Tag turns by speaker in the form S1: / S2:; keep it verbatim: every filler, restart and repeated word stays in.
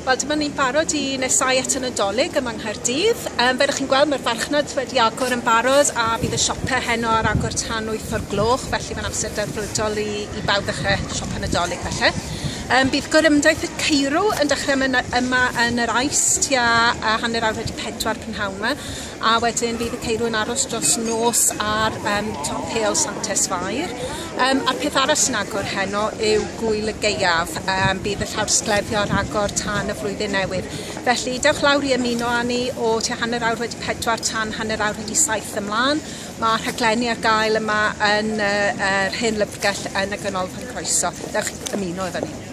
S1: Wel, dyma ni'n barod i nesau at y Nadolig yma yng Nghaerdydd. Um, fel ydych chi'n gweld, mae'r farchnad wedi agor yn barod a bydd y siopau heno ar agor tan wyth o'r gloch, felly mae'n amser delfrydol i, i bawb ddechrau siopa Nadolig felly. Um, bydd gorymdaith y Ceirw yn dechrau yma, yma yn yr Ais tua uh, hanner awr wedi pedwar prynhawn yma, a wedyn bydd y Ceirw yn aros dros nos ar um, top Heol Santes Fair. Um, a'r peth arall sy'n agor heno yw Gwyl y Gaeaf. Um, bydd y llawr sglefrio ar agor tan y flwyddyn newydd. Felly dewch lawr i ymuno â ni o tua hanner awr wedi pedwar tan hanner awr wedi saith ymlaen. Mae rhaglenni ar gael yma yn uh, yr hen lyfrgell yn y Ganolfan Croeso. Dewch i ymuno efo ni.